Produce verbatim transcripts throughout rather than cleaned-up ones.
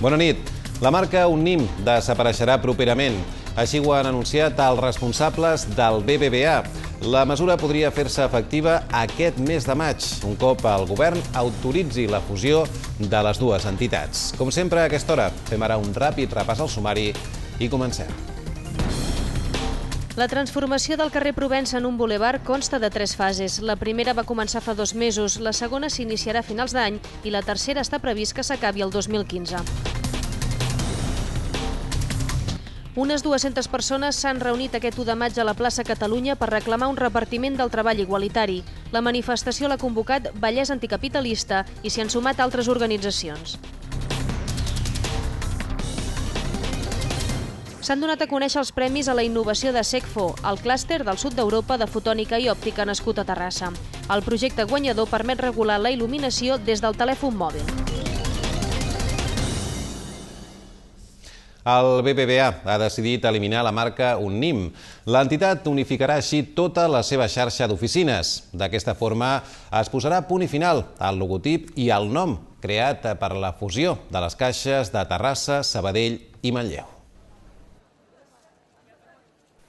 Bona nit. La marca Unnim desapareixerà properament. Així ho han anunciat els responsables del B B V A. La mesura podria fer-se efectiva aquest mes de maig, un cop el govern autoritzi la fusió de les dues entitats. Com sempre, a aquesta hora, fem ara un ràpid repàs al sumari i comencem. La transformació del carrer Provença en un bulevard consta de tres fases. La primera va començar fa dos mesos, la segona s'iniciarà a finals d'any i la tercera està previst que s'acabi el dos mil quinze. Unes dues-centes persones s'han reunit aquest u de maig a la plaça Catalunya per reclamar un repartiment del treball igualitari. La manifestació l'ha convocat Vallès Anticapitalista i s'hi han sumat altres organitzacions. S'han donat a conèixer els premis a la innovació de SECFO, el clúster del sud d'Europa de fotònica i òptica nascut a Terrassa. El projecte guanyador permet regular la il·luminació des del telèfon mòbil. El B B V A ha decidit eliminar la marca Unnim. L'entitat unificarà així tota la seva xarxa d'oficines. D'aquesta forma es posarà punt i final al logotip i al nom creat per la fusió de les caixes de Terrassa, Sabadell i Manlleu.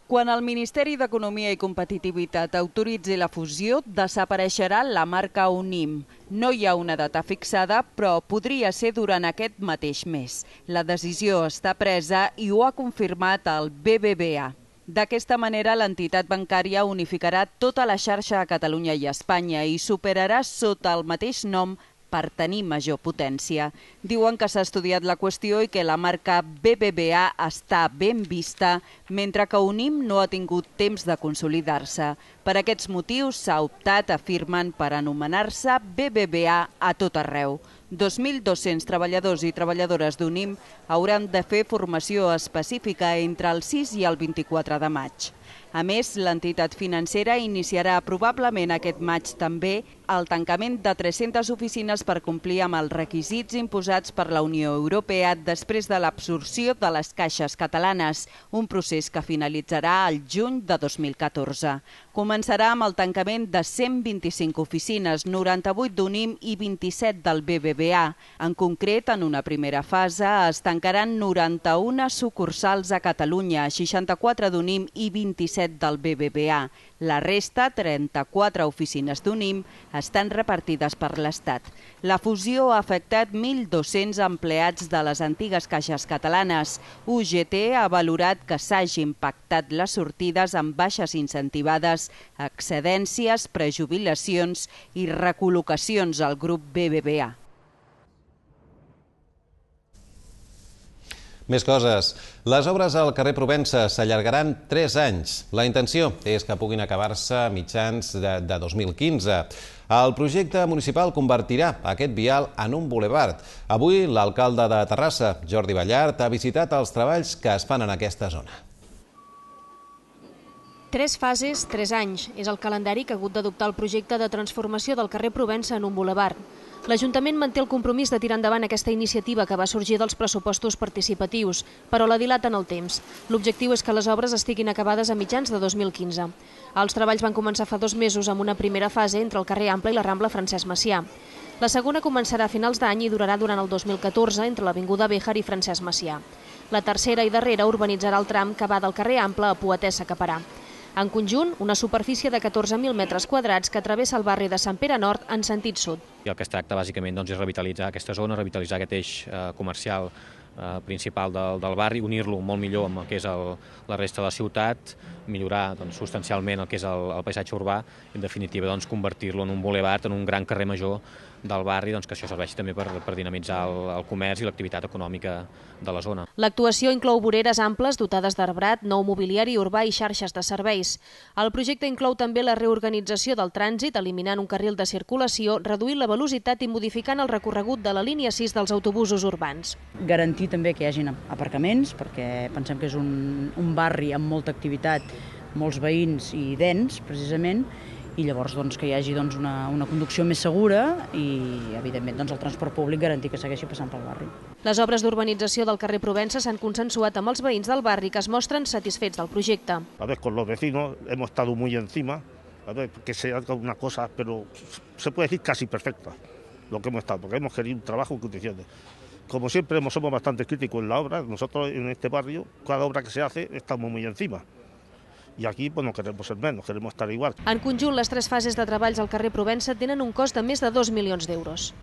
Quan el Ministeri d'Economia i Competitivitat autoritzi la fusió, desapareixerà la marca Unnim. No hi ha una data fixada, però podria ser durant aquest mateix mes. La decisió està presa i ho ha confirmat el B B V A. D'aquesta manera, l'entitat bancària unificarà tota la xarxa a Catalunya i Espanya i s'operarà sota el mateix nom per tenir major potència. Diuen que s'ha estudiat la qüestió i que la marca B B V A està ben vista, mentre que Unnim no ha tingut temps de consolidar-se. Per aquests motius s'ha optat, afirmen, per anomenar-se B B V A a tot arreu. dos mil dos-cents treballadors i treballadores d'Unnim hauran de fer formació específica entre el sis i el vint-i-quatre de maig. A més, l'entitat financera iniciarà probablement aquest maig també el tancament de tres-centes oficines per complir amb els requisits imposats per la Unió Europea després de l'absorció de les caixes catalanes, un procés que finalitzarà al juny de dos mil catorze. Començarà amb el tancament de cent vint-i-cinc oficines, noranta-vuit d'Unnim i vint-i-set del B B V A. En concret, en una primera fase es tancaran noranta-una sucursals a Catalunya, seixanta-quatre d'Unnim i vint-i-set del B B V A. La resta, trenta-quatre oficines d'Unnim, estan repartides per l'Estat. La fusió ha afectat mil dos-cents empleats de les antigues caixes catalanes. U G T ha valorat que s'hagin pactat les sortides amb baixes incentivades, excedències, prejubilacions i recol·locacions al grup B B V A. Més coses. Les obres al carrer Provença s'allargaran tres anys. La intenció és que puguin acabar-se a mitjans de, de dos mil quinze. El projecte municipal convertirà aquest vial en un bulevard. Avui l'alcalde de Terrassa, Jordi Ballart, ha visitat els treballs que es fan en aquesta zona. Tres fases, tres anys. És el calendari que ha hagut d'adoptar el projecte de transformació del carrer Provença en un bulevard. L'Ajuntament manté el compromís de tirar endavant aquesta iniciativa que va sorgir dels pressupostos participatius, però la dilata en el temps. L'objectiu és que les obres estiguin acabades a mitjans de dos mil quinze. Els treballs van començar fa dos mesos amb una primera fase entre el carrer Ample i la Rambla Francesc Macià. La segona començarà a finals d'any i durarà durant el dos mil catorze entre l'Avinguda Béjar i Francesc Macià. La tercera i darrera urbanitzarà el tram que va del carrer Ample a Poetessa Caparà. En conjunt, una superfície de catorze mil metres quadrats que travessa el barri de Sant Pere Nord en sentit sud. I el que es tracta bàsicament doncs, és revitalitzar aquesta zona, revitalitzar aquest eix eh, comercial eh, principal del, del barri, unir-lo molt millor amb el que és el, la resta de la ciutat, millorar doncs, substancialment el que és el, el paisatge urbà i en definitiva doncs, convertir-lo en un bulevard, en un gran carrer major del barri, doncs, que això serveixi també per, per dinamitzar el, el comerç i l'activitat econòmica de la zona. L'actuació inclou voreres amples dotades d'arbrat, nou mobiliari urbà i xarxes de serveis. El projecte inclou també la reorganització del trànsit, eliminant un carril de circulació, reduint la velocitat i modificant el recorregut de la línia sis dels autobusos urbans. Garantir també que hi hagin aparcaments, perquè pensem que és un, un barri amb molta activitat, molts veïns i dens, precisament, i llavors doncs, que hi hagi doncs, una, una conducció més segura i, evidentment, doncs, el transport públic garantir que segueixi passant pel barri. Les obres d'urbanització del carrer Provença s'han consensuat amb els veïns del barri que es mostren satisfets del projecte. A ver, con los vecinos hemos estado muy encima, a ver, que se haga una cosa, pero se puede decir casi perfecta, lo que hemos estado, porque hemos querido un trabajo en condiciones. como siempre somos bastante críticos en la obra, nosotros en este barrio, cada obra que se hace, estamos muy encima. I aquí pues, no queremos ser menos, queremos estar igual. En conjunt, les tres fases de treballs al carrer Provença tenen un cost de més de dos milions d'euros.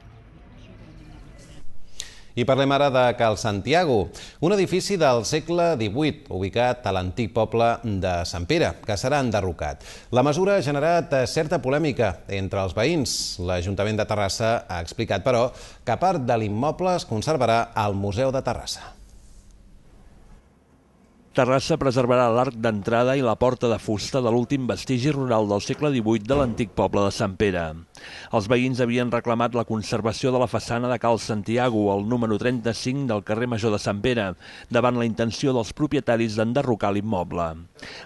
I parlem ara de Cal Santiago, un edifici del segle divuit, ubicat a l'antic poble de Sant Pere, que serà enderrocat. La mesura ha generat certa polèmica entre els veïns. L'Ajuntament de Terrassa ha explicat, però, que part de l'immoble es conservarà al Museu de Terrassa. Terrassa preservarà l'arc d'entrada i la porta de fusta de l'últim vestigi rural del segle divuit de l'antic poble de Sant Pere. Els veïns havien reclamat la conservació de la façana de Cal Santiago, al número trenta-cinc del carrer Major de Sant Pere, davant la intenció dels propietaris d'enderrocar l'immoble.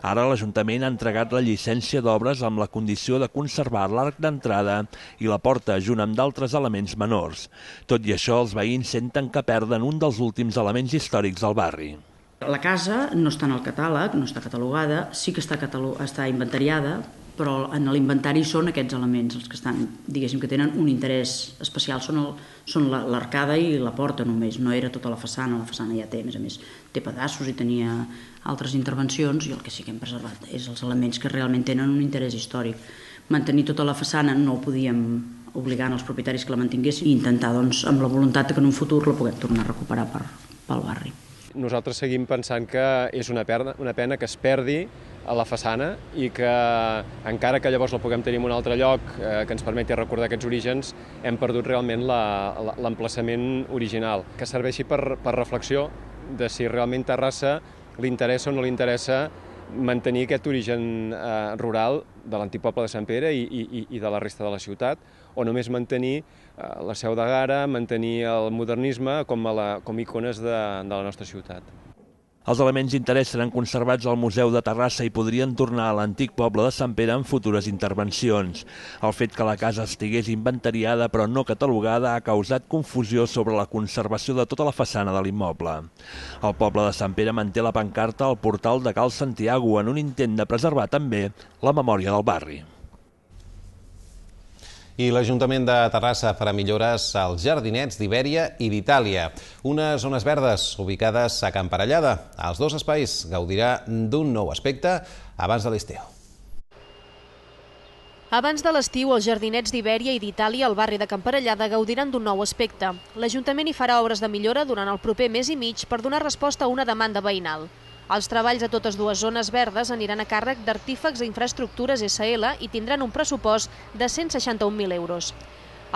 Ara l'Ajuntament ha entregat la llicència d'obres amb la condició de conservar l'arc d'entrada i la porta, junt amb d'altres elements menors. Tot i això, els veïns senten que perden un dels últims elements històrics del barri. La casa no està en el catàleg, no està catalogada, sí que està, està inventariada, però en l'inventari són aquests elements els que estan, diguéssim, que tenen un interès especial, són, el, són l'arcada i la porta només, no era tota la façana, la façana ja té, a més a més, té pedaços i tenia altres intervencions, i el que sí que hem preservat és els elements que realment tenen un interès històric. Mantenir tota la façana no ho podíem obligar als propietaris que la mantinguessin i intentar, doncs, amb la voluntat que en un futur la puguem tornar a recuperar per, pel barri. Nosaltres seguim pensant que és una pena, una pena que es perdi a la façana i que encara que llavors la puguem tenir en un altre lloc eh, que ens permeti recordar aquests orígens, hem perdut realment l'emplaçament original, que serveixi per, per reflexió de si realment Terrassa li interessa o no li interessa mantenir aquest origen eh, rural de l'antic poble de Sant Pere i, i, i de la resta de la ciutat, o només mantenir eh, la Seu de Gara, mantenir el modernisme com a la, com icones de, de la nostra ciutat. Els elements d'interès seran conservats al Museu de Terrassa i podrien tornar a l'antic poble de Sant Pere en futures intervencions. El fet que la casa estigués inventariada però no catalogada ha causat confusió sobre la conservació de tota la façana de l'immoble. El poble de Sant Pere manté la pancarta al portal de Cal Santiago en un intent de preservar també la memòria del barri. I l'Ajuntament de Terrassa farà millores als jardinets d'Ibèria i d'Itàlia, unes zones verdes ubicades a Can Parellada. Els dos espais gaudirà d'un nou aspecte abans de l'estiu. Abans de l'estiu, els jardinets d'Ibèria i d'Itàlia al barri de Can Parellada gaudiran d'un nou aspecte. L'Ajuntament hi farà obres de millora durant el proper mes i mig per donar resposta a una demanda veïnal. Els treballs a totes dues zones verdes aniran a càrrec d'Artífex i Infraestructures essa ele i tindran un pressupost de cent seixanta-un mil euros.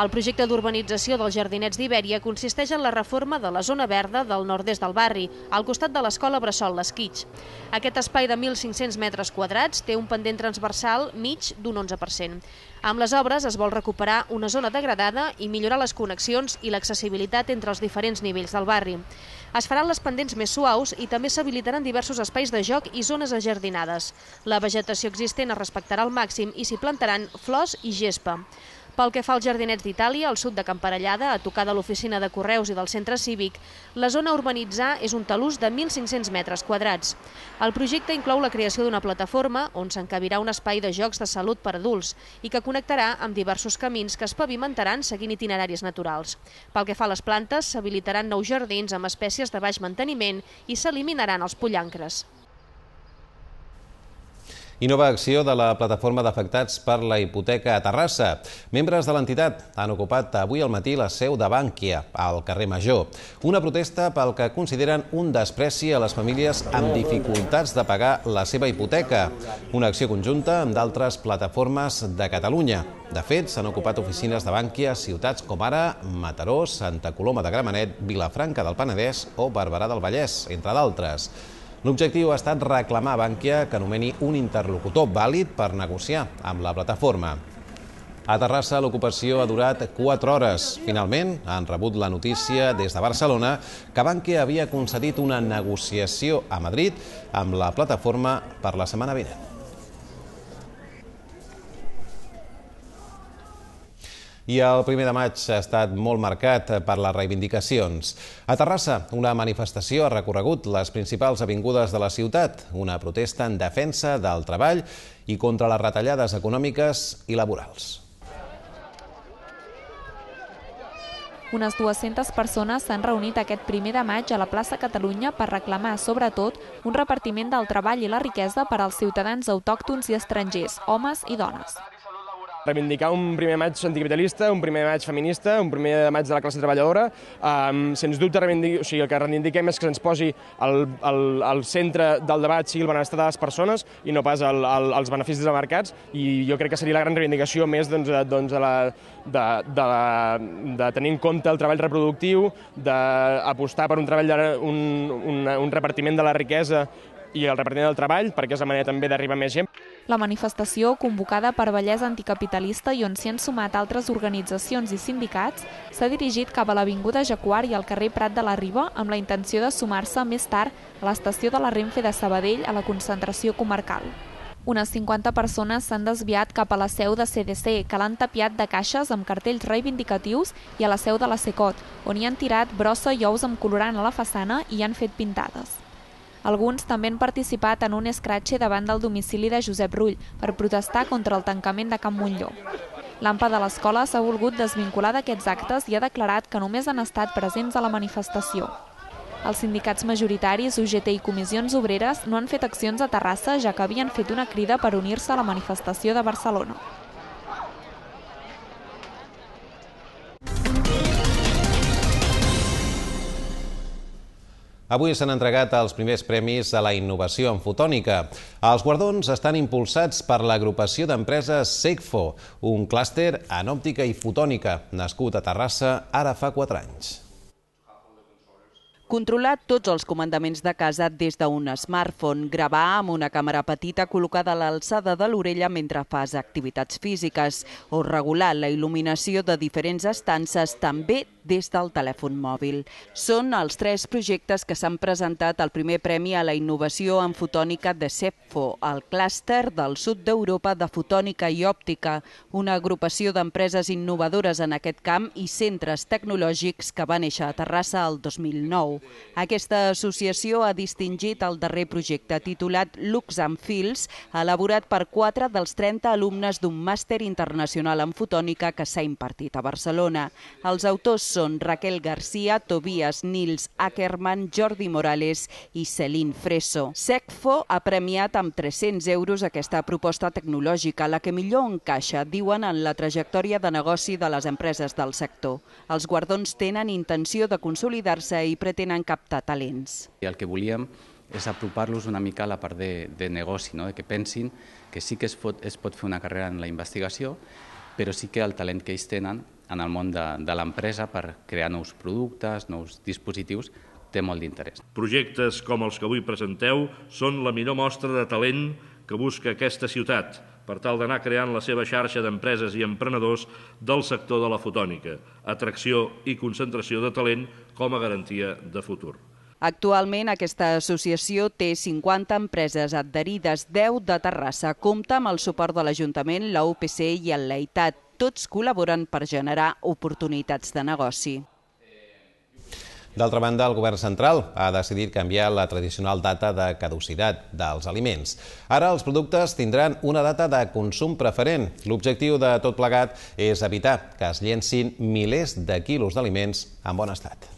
El projecte d'urbanització dels jardinets d'Ibèria consisteix en la reforma de la zona verda del nord-est del barri, al costat de l'escola Bressol l'Esquitx. Aquest espai de mil cinc-cents metres quadrats té un pendent transversal mig d'un onze per cent. Amb les obres es vol recuperar una zona degradada i millorar les connexions i l'accessibilitat entre els diferents nivells del barri. Es faran les pendents més suaus i també s'habilitaran diversos espais de joc i zones ajardinades. La vegetació existent es respectarà al màxim i s'hi plantaran flors i gespa. Pel que fa als jardinets d'Itàlia, al sud de Can Parellada, a tocar de l'oficina de Correus i del centre cívic, la zona a urbanitzar és un talús de mil cinc-cents metres quadrats. El projecte inclou la creació d'una plataforma on s'encabirà un espai de jocs de salut per adults i que connectarà amb diversos camins que es pavimentaran seguint itineraris naturals. Pel que fa a les plantes, s'habilitaran nous jardins amb espècies de baix manteniment i s'eliminaran els pollancres. I nova acció de la plataforma d'afectats per la hipoteca a Terrassa. Membres de l'entitat han ocupat avui al matí la seu de Bànquia, al carrer Major. Una protesta pel que consideren un despreci a les famílies amb dificultats de pagar la seva hipoteca. Una acció conjunta amb d'altres plataformes de Catalunya. De fet, s'han ocupat oficines de Bànquia a ciutats com ara Mataró, Santa Coloma de Gramenet, Vilafranca del Penedès o Barberà del Vallès, entre d'altres. L'objectiu ha estat reclamar a Bànquia que anomeni un interlocutor vàlid per negociar amb la plataforma. A Terrassa l'ocupació ha durat quatre hores. Finalment, han rebut la notícia des de Barcelona que Bànquia havia concedit una negociació a Madrid amb la plataforma per la setmana vinent. I el primer de maig ha estat molt marcat per les reivindicacions. A Terrassa, una manifestació ha recorregut les principals avingudes de la ciutat, una protesta en defensa del treball i contra les retallades econòmiques i laborals. Unes dues-centes persones s'han reunit aquest primer de maig a la plaça Catalunya per reclamar, sobretot, un repartiment del treball i la riquesa per als ciutadans autòctons i estrangers, homes i dones. Reivindicar un primer maig anticapitalista, un primer maig feminista, un primer maig de la classe treballadora. Um, sens dubte, o sigui, el que reivindiquem és que se'ns posi al, al, al centre del debat sigui el benestar de les persones i no pas el, el, els beneficis de mercats, i jo crec que seria la gran reivindicació més doncs, doncs, de, la, de, de, la, de tenir en compte el treball reproductiu, d'apostar per un, treball, un, un, un repartiment de la riquesa i el repartiment del treball, perquè és la manera també d'arribar a més gent. La manifestació, convocada per Vallès Anticapitalista i on s'hi han sumat altres organitzacions i sindicats, s'ha dirigit cap a l'Avinguda Jaguar i al carrer Prat de la Riba amb la intenció de sumar-se més tard a l'estació de la Renfe de Sabadell a la concentració comarcal. Unes cinquanta persones s'han desviat cap a la seu de C D C, que l'han tapiat de caixes amb cartells reivindicatius, i a la seu de la Secot, on hi han tirat brossa i ous amb colorant a la façana i hi han fet pintades. Alguns també han participat en un escratxe davant del domicili de Josep Rull per protestar contra el tancament de Can Montllor. L'AMPA de l'escola s'ha volgut desvincular d'aquests actes i ha declarat que només han estat presents a la manifestació. Els sindicats majoritaris, U G T i Comissions Obreres no han fet accions a Terrassa, ja que havien fet una crida per unir-se a la manifestació de Barcelona. Avui s'han entregat els primers premis a la innovació en fotònica. Els guardons estan impulsats per l'agrupació d'empreses SECFO, un clúster en òptica i fotònica, nascut a Terrassa ara fa quatre anys. Controlar tots els comandaments de casa des d'un smartphone, gravar amb una càmera petita col·locada a l'alçada de l'orella mentre fas activitats físiques o regular la il·luminació de diferents estances també des del telèfon mòbil. Són els tres projectes que s'han presentat al primer premi a la innovació en fotònica de SECFO, el clúster del sud d'Europa de fotònica i òptica, una agrupació d'empreses innovadores en aquest camp i centres tecnològics que va néixer a Terrassa el dos mil nou. Aquesta associació ha distingit el darrer projecte titulat Lux and Feels, elaborat per quatre dels trenta alumnes d'un màster internacional en fotònica que s'ha impartit a Barcelona. Els autors són Raquel García, Tobias Nils Ackerman, Jordi Morales i Celine Freso. SECFO ha premiat amb tres-cents euros aquesta proposta tecnològica, la que millor encaixa, diuen, en la trajectòria de negoci de les empreses del sector. Els guardons tenen intenció de consolidar-se i pretenen captar talents. El que volíem és apropar-los una mica a la part de, de negoci, no? De que pensin que sí que es pot, es pot fer una carrera en la investigació, però sí que el talent que ells tenen en el món de, de l'empresa per crear nous productes, nous dispositius, té molt d'interès. Projectes com els que avui presenteu són la millor mostra de talent que busca aquesta ciutat, per tal d'anar creant la seva xarxa d'empreses i emprenedors del sector de la fotònica, atracció i concentració de talent com a garantia de futur. Actualment, aquesta associació té cinquanta empreses adherides, deu de Terrassa. Compta amb el suport de l'Ajuntament, la U P C i el Leitat. Tots col·laboren per generar oportunitats de negoci. D'altra banda, el govern central ha decidit canviar la tradicional data de caducitat dels aliments. Ara els productes tindran una data de consum preferent. L'objectiu de tot plegat és evitar que es llencin milers de quilos d'aliments en bon estat.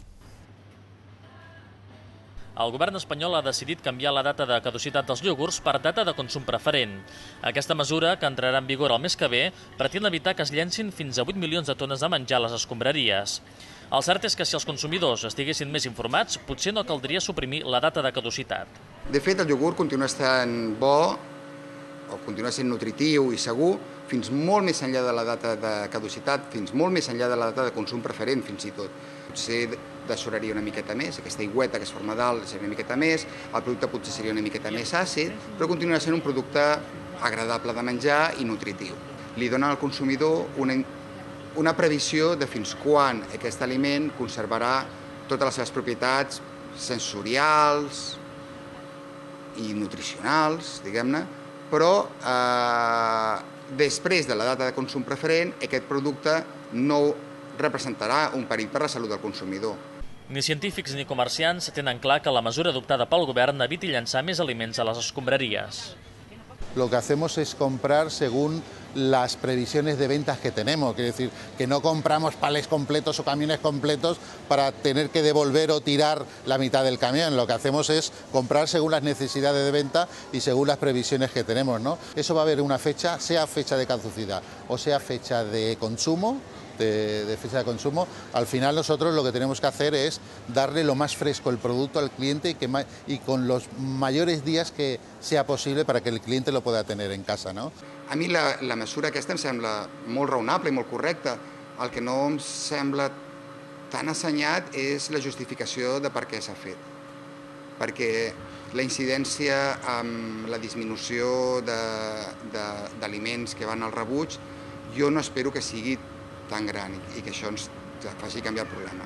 El govern espanyol ha decidit canviar la data de caducitat dels iogurts per data de consum preferent. Aquesta mesura, que entrarà en vigor el mes que ve, pretén evitar que es llencin fins a vuit milions de tones de menjar a les escombraries. El cert és que si els consumidors estiguessin més informats, potser no caldria suprimir la data de caducitat. De fet, el iogurt continua estant bo, o continua sent nutritiu i segur, fins molt més enllà de la data de caducitat, fins molt més enllà de la data de consum preferent, fins i tot. Potser dessoraria una miqueta més, aquesta aigüeta que es forma dalt seria una miqueta més, el producte potser seria una miqueta més àcid, però continuarà sent un producte agradable de menjar i nutritiu. Li dona al consumidor una, una previsió de fins quan aquest aliment conservarà totes les seves propietats sensorials i nutricionals, diguem-ne, però eh, després de la data de consum preferent, aquest producte no representarà un perill per la salut del consumidor. Ni científics ni comerciants tenen clar que la mesura adoptada pel govern eviti llançar més aliments a les escombraries. lo que hacemos es comprar según las previsiones de ventas que tenemos, quiere decir que no compramos palés completos o camiones completos para tener que devolver o tirar la mitad del camión, lo que hacemos es comprar según las necesidades de venta y según las previsiones que tenemos, ¿no? Eso va a haber una fecha, sea fecha de caducidad o sea fecha de consumo, De, de fecha de consumo, al final nosotros lo que tenemos que hacer es darle lo más fresco el producto al cliente y, que, y con los mayores días que sea posible para que el cliente lo pueda tener en casa, no? A mi la, la mesura aquesta em sembla molt raonable i molt correcta. El que no em sembla tan assenyat és la justificació de per què s'ha fet. Perquè la incidència amb la disminució d'aliments que van al rebuig, jo no espero que sigui tan gran i que això ens faci canviar el problema.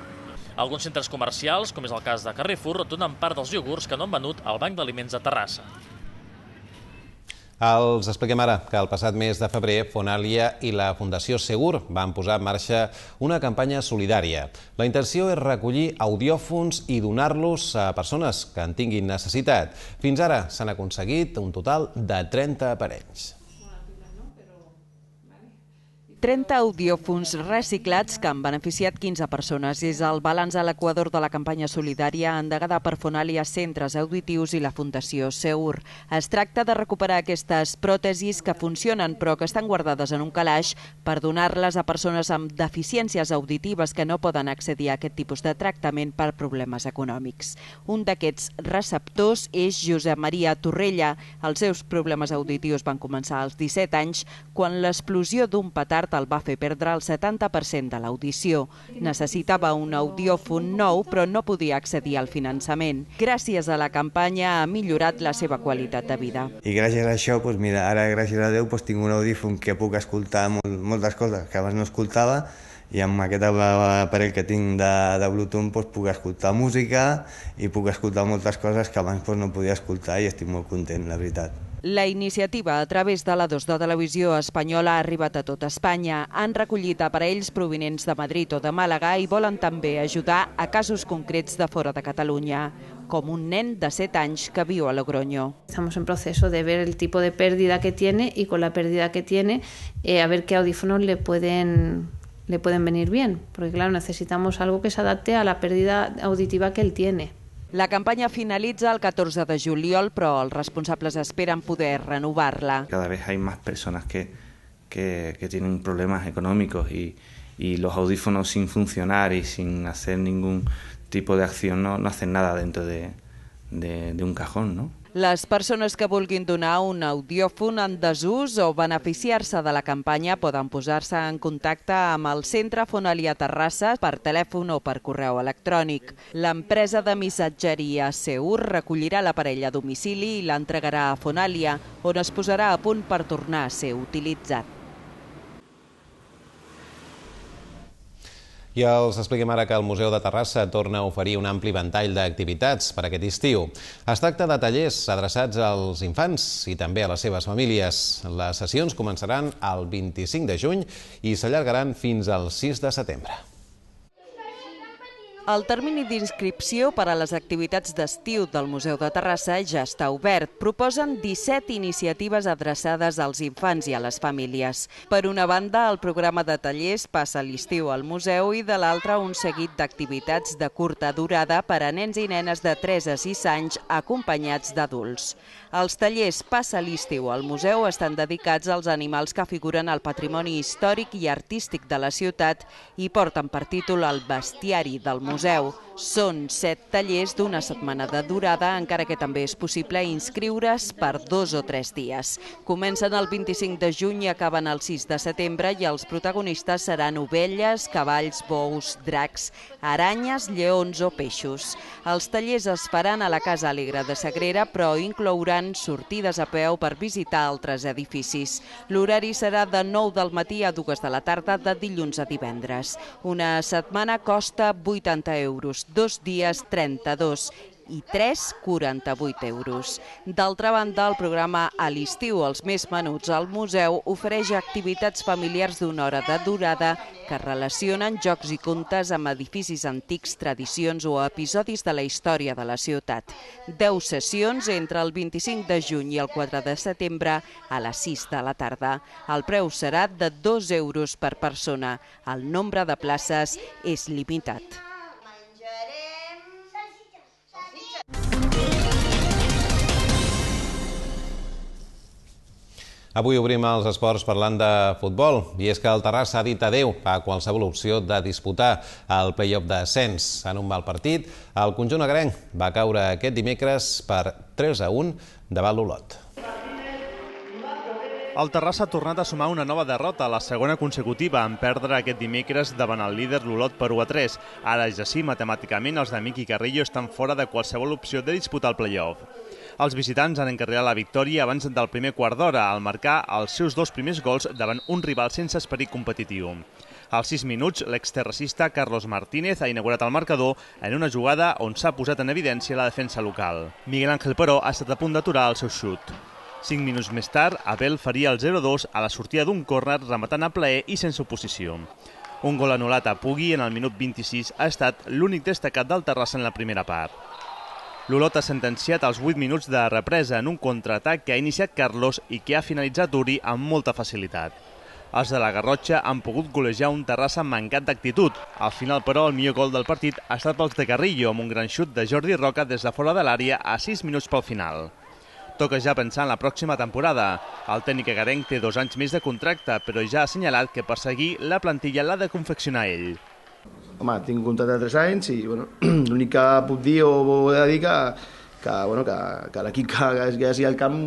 Alguns centres comercials, com és el cas de Carrefour, donen part dels iogurts que no han venut al Banc d'Aliments de Terrassa. Els expliquem ara que el passat mes de febrer Fonalia i la Fundació Segur van posar en marxa una campanya solidària. La intenció és recollir audiòfons i donar-los a persones que en tinguin necessitat. Fins ara s'han aconseguit un total de trenta aparells. trenta audiòfons reciclats que han beneficiat quinze persones. És el balanç a l'Equador de la campanya solidària endegada per Fonalia, Centres Auditius i la Fundació Seur. Es tracta de recuperar aquestes pròtesis que funcionen però que estan guardades en un calaix per donar-les a persones amb deficiències auditives que no poden accedir a aquest tipus de tractament per problemes econòmics. Un d'aquests receptors és Josep Maria Torrella. Els seus problemes auditius van començar als disset anys quan l'explosió d'un petard el va fer perdre el setanta per cent de l'audició. Necessitava un audiòfon nou, però no podia accedir al finançament. Gràcies a la campanya ha millorat la seva qualitat de vida. I gràcies a això, doncs mira, ara gràcies a Déu doncs, tinc un audífon que puc escoltar molt, moltes coses que abans no escoltava i amb aquest aparell que tinc de, de Bluetooth doncs, puc escoltar música i puc escoltar moltes coses que abans doncs, no podia escoltar i estic molt content, la veritat. La iniciativa, a través de la dos de Televisió Espanyola, ha arribat a tot Espanya. Han recollit aparells provinents de Madrid o de Màlaga i volen també ajudar a casos concrets de fora de Catalunya, com un nen de set anys que viu a Logroño. Estamos en proceso de ver el tipo de pérdida que tiene y con la pérdida que tiene, eh, a ver qué audífonos le pueden, le pueden venir bien, porque claro, necesitamos algo que se adapte a la pérdida auditiva que él tiene. La campanya finalitza el catorze de juliol, però els responsables esperen poder renovar-la. Cada vez hay más personas que, que, que tienen problemas económicos y, y los audífonos sin funcionar y sin hacer ningún tipo de acción no, no hacen nada dentro de, de, de un cajón, ¿no? Les persones que vulguin donar un audiòfon en desús o beneficiar-se de la campanya poden posar-se en contacte amb el Centre Fonalia Terrassa per telèfon o per correu electrònic. L'empresa de missatgeria Seur recollirà l'aparell a domicili i l'entregarà a Fonalia, on es posarà a punt per tornar a ser utilitzat. I els expliquem ara que el Museu de Terrassa torna a oferir un ampli ventall d'activitats per aquest estiu. Es tracta de tallers adreçats als infants i també a les seves famílies. Les sessions començaran el vint-i-cinc de juny i s'allargaran fins al sis de setembre. El termini d'inscripció per a les activitats d'estiu del Museu de Terrassa ja està obert. Proposen disset iniciatives adreçades als infants i a les famílies. Per una banda, el programa de tallers passa l'estiu al museu i de l'altra un seguit d'activitats de curta durada per a nens i nenes de tres a sis anys acompanyats d'adults. Els tallers Passa l'estiu al museu estan dedicats als animals que figuren al patrimoni històric i artístic de la ciutat i porten per títol El bestiari del museu. Són set tallers d'una setmana de durada, encara que també és possible inscriure's per dos o tres dies. Comencen el vint-i-cinc de juny i acaben el sis de setembre i els protagonistes seran ovelles, cavalls, bous, dracs, aranyes, lleons o peixos. Els tallers es faran a la Casa Alegre de Sagrera, però inclouran sortides a peu per visitar altres edificis. L'horari serà de nou del matí a dues de la tarda de dilluns a divendres. Una setmana costa vuitanta euros, dos dies trenta-dos i tres coma quaranta-vuit euros. D'altra banda, el programa A l'estiu, els més menuts al museu, ofereix activitats familiars d'una hora de durada que relacionen jocs i contes amb edificis antics, tradicions o episodis de la història de la ciutat. Deu sessions entre el vint-i-cinc de juny i el quatre de setembre a les sis de la tarda. El preu serà de dos euros per persona. El nombre de places és limitat. Avui obrim els esports parlant de futbol, i és que el Terrassa ha dit adeu a qualsevol opció de disputar el play-off d'ascens. En un mal partit, el conjunt agrenc va caure aquest dimecres per tres a un davant l'Olot. El Terrassa ha tornat a sumar una nova derrota, la segona consecutiva, en perdre aquest dimecres davant el líder l'Olot per u a tres. Ara és així, matemàticament, els de Miqui Carrillo estan fora de qualsevol opció de disputar el play-off. Els visitants han encarrilat la victòria abans del primer quart d'hora, al marcar els seus dos primers gols davant un rival sense esperit competitiu. Als sis minuts, l'exterracista Carlos Martínez ha inaugurat el marcador en una jugada on s'ha posat en evidència la defensa local. Miguel Ángel, però, ha estat a punt d'aturar el seu xut. Cinc minuts més tard, Abel faria el zero a dos a la sortida d'un córner rematant a plaer i sense oposició. Un gol anul·lat a Pugui en el minut vint-i-sis ha estat l'únic destacat del Terrassa en la primera part. L'Olot ha sentenciat els vuit minuts de represa en un contraatac que ha iniciat Carlos i que ha finalitzat Uri amb molta facilitat. Els de la Garrotxa han pogut golejar un Terrassa mancat d'actitud. Al final, però, el millor gol del partit ha estat pels de Carrillo, amb un gran xut de Jordi Roca des de fora de l'àrea a sis minuts pel final. Toca ja pensar en la pròxima temporada. El tècnic agarenc té dos anys més de contracte, però ja ha assenyalat que per seguir la plantilla l'ha de confeccionar ell. Home, tinc un contracte de tres anys i bueno, l'únic que puc dir o he de dir que, que, bueno, que, que l'equip que, que hagi al camp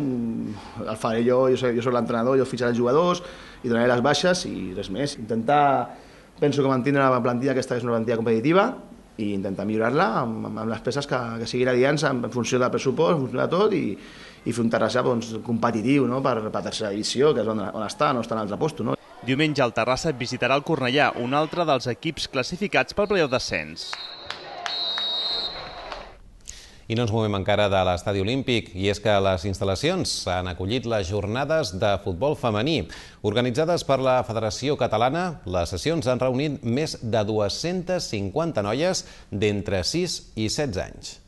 el faré jo, jo soc, jo soc l'entrenador, jo fitxaré els jugadors i donaré les baixes i res més. Intentar, penso que mantindre la plantilla, aquesta és una plantilla competitiva, i intentar millorar-la amb, amb les peces que, que siguin adients en funció del pressupost, en funció de tot, i, i fer un Terrassa doncs, competitiu, no? per, per tercera divisió, que és on, on està, no està en l'altre posto. No? Diumenge el Terrassa visitarà el Cornellà, un altre dels equips classificats pel play-off d'ascens. I no ens movem encara de l'estadi olímpic, i és que les instal·lacions han acollit les jornades de futbol femení. Organitzades per la Federació Catalana, les sessions han reunit més de dues-centes cinquanta noies d'entre sis i setze anys.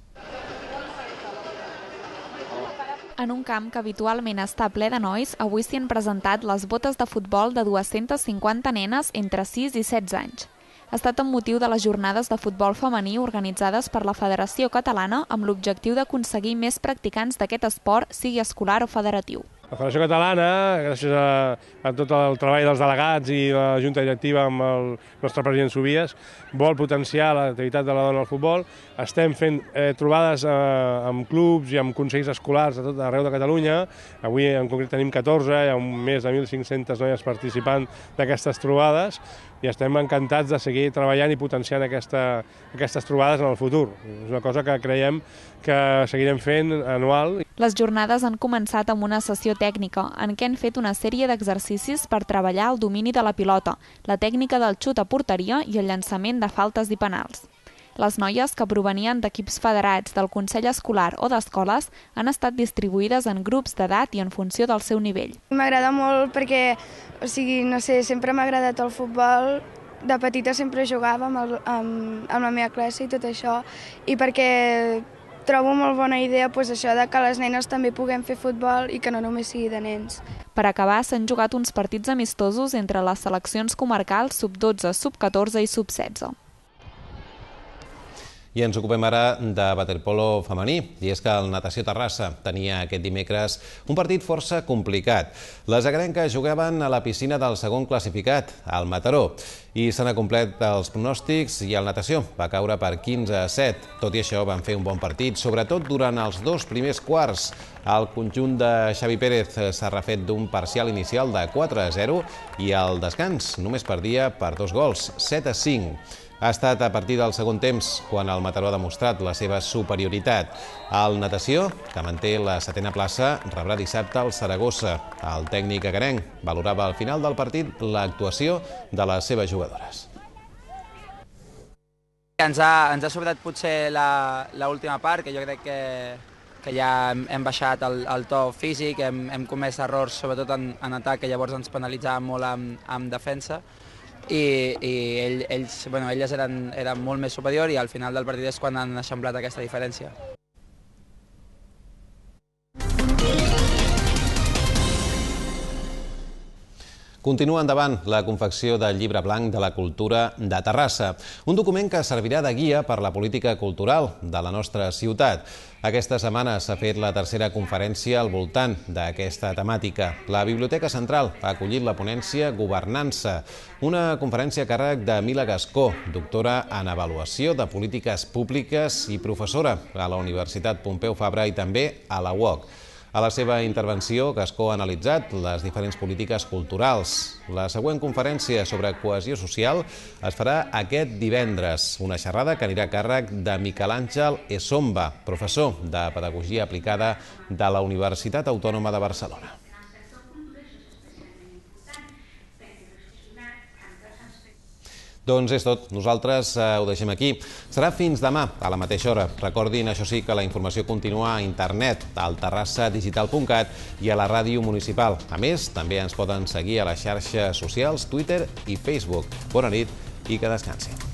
En un camp que habitualment està ple de nois, avui s'hi han presentat les botes de futbol de dues-centes cinquanta nenes entre sis i setze anys. Ha estat amb motiu de les jornades de futbol femení organitzades per la Federació Catalana amb l'objectiu d'aconseguir més practicants d'aquest esport, sigui escolar o federatiu. La Federació Catalana, gràcies a, a tot el treball dels delegats i la Junta Directiva amb el nostre president Subies, vol potenciar l'activitat de la dona al futbol. Estem fent eh, trobades eh, amb clubs i amb consells escolars a tot arreu de Catalunya. Avui en concret tenim catorze, hi ha més de mil cinc-centes noies participant d'aquestes trobades i estem encantats de seguir treballant i potenciant aquesta, aquestes trobades en el futur. És una cosa que creiem que seguirem fent anual. Les jornades han començat amb una sessió tècnica en què han fet una sèrie d'exercicis per treballar el domini de la pilota, la tècnica del xut a porteria i el llançament de faltes i penals. Les noies, que provenien d'equips federats, del Consell Escolar o d'escoles, han estat distribuïdes en grups d'edat i en funció del seu nivell. M'agrada molt perquè, o sigui, no sé, sempre m'ha agradat el futbol. De petita sempre jugava amb, el, amb, amb la meva classe i tot això, i perquè trobo molt bona idea pues, això de que les nenes també puguem fer futbol i que no només sigui de nens. Per acabar, s'han jugat uns partits amistosos entre les seleccions comarcals sub dotze, sub catorze i sub setze. I ens ocupem ara de waterpolo femení, i és que el Natació Terrassa tenia aquest dimecres un partit força complicat. Les agrenques jugaven a la piscina del segon classificat, al Mataró, i s'han acomplit els pronòstics i el Natació va caure per quinze a set. Tot i això van fer un bon partit, sobretot durant els dos primers quarts. El conjunt de Xavi Pérez s'ha refet d'un parcial inicial de quatre a zero i al descans només perdia per dos gols, set a cinc. Ha estat a partir del segon temps quan el Mataró ha demostrat la seva superioritat. El Natació, que manté la setena plaça, rebrà dissabte el Saragossa. El tècnic agrenc valorava al final del partit l'actuació de les seves jugadores. Ens ha, ens ha sobrat potser l'última part, que jo crec que, que ja hem, hem baixat el, el to físic, hem, hem comès errors sobretot en, en atac, que llavors ens penalitzaven molt en, en defensa, i, i ell, ells, bueno, elles eren, eren molt més superior i al final del partit és quan han eixamplat aquesta diferència. Continua endavant la confecció del Llibre Blanc de la Cultura de Terrassa, un document que servirà de guia per la política cultural de la nostra ciutat. Aquesta setmana s'ha fet la tercera conferència al voltant d'aquesta temàtica. La Biblioteca Central ha acollit la ponència Governança, una conferència a càrrec de Mila Gascó, doctora en Avaluació de Polítiques Públiques i professora a la Universitat Pompeu Fabra i també a la U O C. A la seva intervenció, Gascó ha analitzat les diferents polítiques culturals. La següent conferència sobre cohesió social es farà aquest divendres, una xerrada que anirà a càrrec de Miquel Àngel Esomba, professor de Pedagogia Aplicada de la Universitat Autònoma de Barcelona. Doncs és tot. Nosaltres ho deixem aquí. Serà fins demà, a la mateixa hora. Recordin, això sí, que la informació continua a internet, al terrassa digital punt cat i a la ràdio municipal. A més, també ens poden seguir a les xarxes socials, Twitter i Facebook. Bona nit i que descansin.